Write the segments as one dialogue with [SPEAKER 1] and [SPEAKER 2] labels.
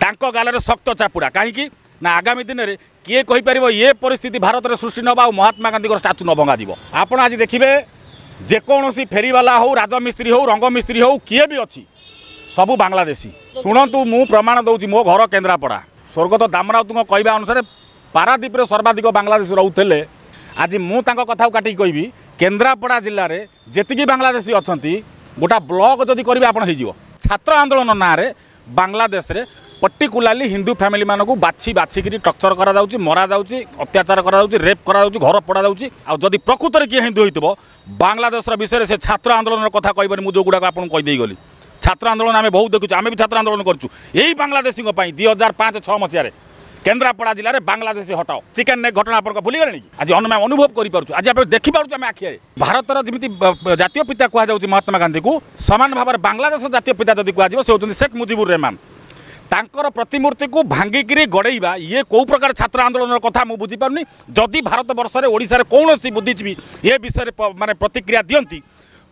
[SPEAKER 1] ତାଙ୍କ ଗାଲରେ ଶକ୍ତ ଚାପୁଡ଼ା। କାହିଁକି ନା ଆଗାମୀ ଦିନରେ କିଏ କହିପାରିବ ଏ ପରିସ୍ଥିତି ଭାରତରେ ସୃଷ୍ଟି ନ ହେବ ଆଉ ମହାତ୍ମା ଗାନ୍ଧୀଙ୍କର ଷ୍ଟାଚୁ ନ ଭଙ୍ଗାଯିବ। ଆପଣ ଆଜି ଦେଖିବେ ଯେକୌଣସି ଫେରିବାଲା ହେଉ, ରାଜମିସ୍ତ୍ରୀ ହେଉ, ରଙ୍ଗମିସ୍ତ୍ରୀ ହେଉ, କିଏ ବି ଅଛି, ସବୁ ବାଂଲାଦେଶୀ। ଶୁଣନ୍ତୁ, ମୁଁ ପ୍ରମାଣ ଦେଉଛି, ମୋ ଘର କେନ୍ଦ୍ରାପଡ଼ା। ସ୍ୱର୍ଗତ ଦାମରାଉତଙ୍କ କହିବା ଅନୁସାରେ ପାରାଦ୍ୱୀପରେ ସର୍ବାଧିକ ବାଂଲାଦେଶୀ ରହୁଥିଲେ। ଆଜି ମୁଁ ତାଙ୍କ କଥାକୁ କାଟିକି କହିବି, କେନ୍ଦ୍ରାପଡ଼ା ଜିଲ୍ଲାରେ ଯେତିକି ବାଂଲାଦେଶୀ ଅଛନ୍ତି, ଗୋଟା ବ୍ଲକ ଯଦି କରିବେ ଆପଣ ହେଇଯିବ। ଛାତ୍ର ଆନ୍ଦୋଳନ ନାଁରେ ବାଂଲାଦେଶରେ ପର୍ଟିକୁଲାରଲି ହିନ୍ଦୁ ଫ୍ୟାମିଲିମାନଙ୍କୁ ବାଛି ବାଛିକିରି ଟର୍ଚର କରାଯାଉଛି, ମରାଯାଉଛି, ଅତ୍ୟାଚାର କରାଯାଉଛି, ରେପ୍ କରାଯାଉଛି, ଘର ପୋଡ଼ାଯାଉଛି। ଆଉ ଯଦି ପ୍ରକୃତରେ କିଏ ହିନ୍ଦୁ ହେଇଥିବ, ବାଂଲାଦେଶର ବିଷୟରେ ସେ ଛାତ୍ର ଆନ୍ଦୋଳନର କଥା କହିବନି। ମୁଁ ଯେଉଁଗୁଡ଼ାକ ଆପଣଙ୍କୁ କହିଦେଇଗଲି, ଛାତ୍ର ଆନ୍ଦୋଳନ ଆମେ ବହୁତ ଦେଖୁଛୁ, ଆମେ ବି ଛାତ୍ର ଆନ୍ଦୋଳନ କରୁଛୁ। ଏଇ ବାଂଲାଦେଶୀଙ୍କ ପାଇଁ 2005-6 ମସିହାରେ କେନ୍ଦ୍ରାପଡ଼ା ଜିଲ୍ଲାରେ ବାଂଲାଦେଶୀ ହଟାଅ ଚିକେନ୍ ନେକ୍ ଘଟଣା ଆପଣଙ୍କ ଭୁଲିଗଲେଣି କି? ଆଜି ଆମେ ଅନୁଭବ କରିପାରୁଛୁ, ଆଜି ଆପଣ ଦେଖିପାରୁଛୁ ଆମେ ଆଖିରେ। ଭାରତର ଯେମିତି ଜାତୀୟ ପିତା କୁହାଯାଉଛି ମହାତ୍ମା ଗାନ୍ଧୀକୁ, ସମାନ ଭାବରେ ବାଂଲାଦେଶ ଜାତୀୟ ପିତା ଯଦି କୁହାଯିବ, ସେ ହେଉଛନ୍ତି ଶେଖ୍ ମୁଜିବୁର ରେହମାନ। ତାଙ୍କର ପ୍ରତିମୂର୍ତ୍ତିକୁ ଭାଙ୍ଗିକିରି ଗଡ଼େଇବା ଇଏ କେଉଁ ପ୍ରକାର ଛାତ୍ର ଆନ୍ଦୋଳନର କଥା ମୁଁ ବୁଝିପାରୁନି। ଯଦି ଭାରତବର୍ଷରେ ଓଡ଼ିଶାରେ କୌଣସି ବୁଦ୍ଧିଜୀବୀ ଏ ବିଷୟରେ ମାନେ ପ୍ରତିକ୍ରିୟା ଦିଅନ୍ତି,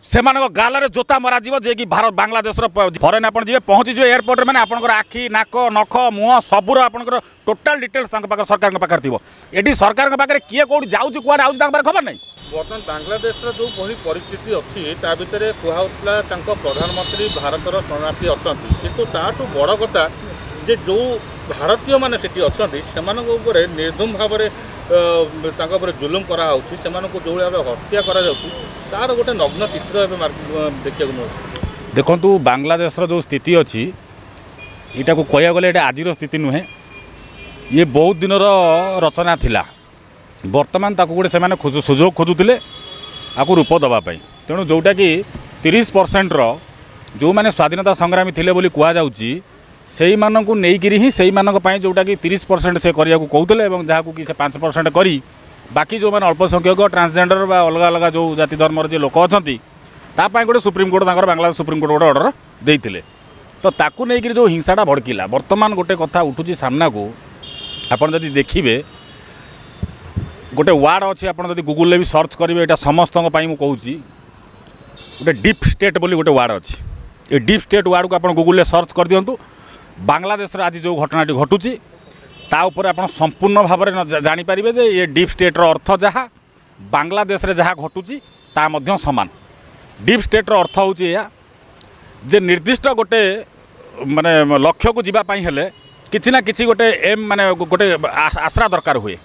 [SPEAKER 1] ସେମାନଙ୍କ ଗାଲରେ ଜୋତା ମରାଯିବ। ଯିଏକି ଭାରତ ବାଂଲାଦେଶର ଫରେନ୍ ଆପଣ ଯିବେ, ପହଞ୍ଚିଯିବେ ଏୟାରପୋର୍ଟରେ, ମାନେ ଆପଣଙ୍କର ଆଖି, ନାକ, ନଖ, ମୁହଁ ସବୁର ଆପଣଙ୍କର ଟୋଟାଲ ଡିଟେଲ୍ସ ତାଙ୍କ ପାଖରେ, ସରକାରଙ୍କ ପାଖରେ ଥିବ। ଏଠି ସରକାରଙ୍କ ପାଖରେ କିଏ କେଉଁଠି ଯାଉଛି, କୁଆଡ଼େ ଆଉଛି, ତାଙ୍କ ପାଖରେ ଖବର ନାହିଁ।
[SPEAKER 2] ବର୍ତ୍ତମାନ ବାଂଲାଦେଶର ଯେଉଁ ଭଳି ପରିସ୍ଥିତି ଅଛି, ତା ଭିତରେ କୁହାହେଉଥିଲା ତାଙ୍କ ପ୍ରଧାନମନ୍ତ୍ରୀ ଭାରତର ଶରଣାର୍ଥୀ ଅଛନ୍ତି, କିନ୍ତୁ ତାଠୁ ବଡ଼ କଥା ଯେ ଯେଉଁ ଭାରତୀୟମାନେ ସେଠି ଅଛନ୍ତି ସେମାନଙ୍କ ଉପରେ ନିର୍ଦ୍ଧୁମ ଭାବରେ ତାଙ୍କ ଉପରେ ଜୁଲୁମ କରାହେଉଛି, ସେମାନଙ୍କୁ ଯେଉଁଭଳି ଭାବେ ହତ୍ୟା କରାଯାଉଛି, ତାର ଗୋଟେ ନଗ୍ନ ଚିତ୍ର ଏବେ ଦେଖିବାକୁ ମିଳୁଛି।
[SPEAKER 1] ଦେଖନ୍ତୁ, ବାଂଲାଦେଶର ଯେଉଁ ସ୍ଥିତି ଅଛି, ଏଇଟାକୁ କହିବାକୁ ଗଲେ ଏଇଟା ଆଜିର ସ୍ଥିତି ନୁହେଁ, ଇଏ ବହୁତ ଦିନର ରଚନା ଥିଲା। ବର୍ତ୍ତମାନ ତାକୁ ଗୋଟେ ସେମାନେ ସୁଯୋଗ ଖୋଜୁଥିଲେ ଆକୁ ରୂପ ଦେବା ପାଇଁ। ତେଣୁ ଯେଉଁଟାକି 30%ର ଯେଉଁମାନେ ସ୍ୱାଧୀନତା ସଂଗ୍ରାମୀ ଥିଲେ ବୋଲି କୁହାଯାଉଛି, ସେଇମାନଙ୍କୁ ନେଇକିରି ହିଁ ସେଇମାନଙ୍କ ପାଇଁ ଯେଉଁଟାକି 30% ସେ କରିବାକୁ କହୁଥିଲେ, ଏବଂ ଯାହାକୁ କି ସେ 5% କରି ବାକି ଯେଉଁମାନେ ଅଳ୍ପସଂଖ୍ୟକ, ଟ୍ରାନ୍ସଜେଣ୍ଡର ବା ଅଲଗା ଅଲଗା ଯେଉଁ ଜାତି ଧର୍ମର ଯେ ଲୋକ ଅଛନ୍ତି, ତା ପାଇଁ ଗୋଟେ ସୁପ୍ରିମକୋର୍ଟ, ତାଙ୍କର ବାଂଲାଦେଶ ସୁପ୍ରିମକୋର୍ଟ ଗୋଟେ ଅର୍ଡ଼ର ଦେଇଥିଲେ। ତ ତାକୁ ନେଇକରି ଯେଉଁ ହିଂସାଟା ଭଡ଼କିଲା, ବର୍ତ୍ତମାନ ଗୋଟେ କଥା ଉଠୁଛି ସାମ୍ନାକୁ। ଆପଣ ଯଦି ଦେଖିବେ ଗୋଟେ ୱାର୍ଡ଼ ଅଛି, ଆପଣ ଯଦି ଗୁଗୁଲରେ ବି ସର୍ଚ୍ଚ କରିବେ, ଏଇଟା ସମସ୍ତଙ୍କ ପାଇଁ ମୁଁ କହୁଛି, ଗୋଟେ ଡିପ୍ ଷ୍ଟେଟ୍ ବୋଲି ଗୋଟେ ୱାର୍ଡ଼ ଅଛି। ଏ ଡିପ୍ ଷ୍ଟେଟ୍ ୱାର୍ଡ଼କୁ ଆପଣ ଗୁଗୁଲରେ ସର୍ଚ୍ଚ କରିଦିଅନ୍ତୁ। ବାଂଲାଦେଶର ଆଜି ଯେଉଁ ଘଟଣାଟି ଘଟୁଛି ତା ଉପରେ ଆପଣ ସମ୍ପୂର୍ଣ୍ଣ ଭାବରେ ଜାଣିପାରିବେ ଯେ ଏ ଡିପ୍ ଷ୍ଟେଟ୍ର ଅର୍ଥ ଯାହା, ବାଂଲାଦେଶରେ ଯାହା ଘଟୁଛି ତା ମଧ୍ୟ ସମାନ। ଡିପ୍ ଷ୍ଟେଟ୍ର ଅର୍ଥ ହେଉଛି ଏଇଆ ଯେ ନିର୍ଦ୍ଦିଷ୍ଟ ଗୋଟେ ମାନେ ଲକ୍ଷ୍ୟକୁ ଯିବା ପାଇଁ ହେଲେ କିଛି ନା କିଛି ଗୋଟେ ଏମ୍, ମାନେ ଗୋଟେ ଆଶ୍ରା ଦରକାର ହୁଏ।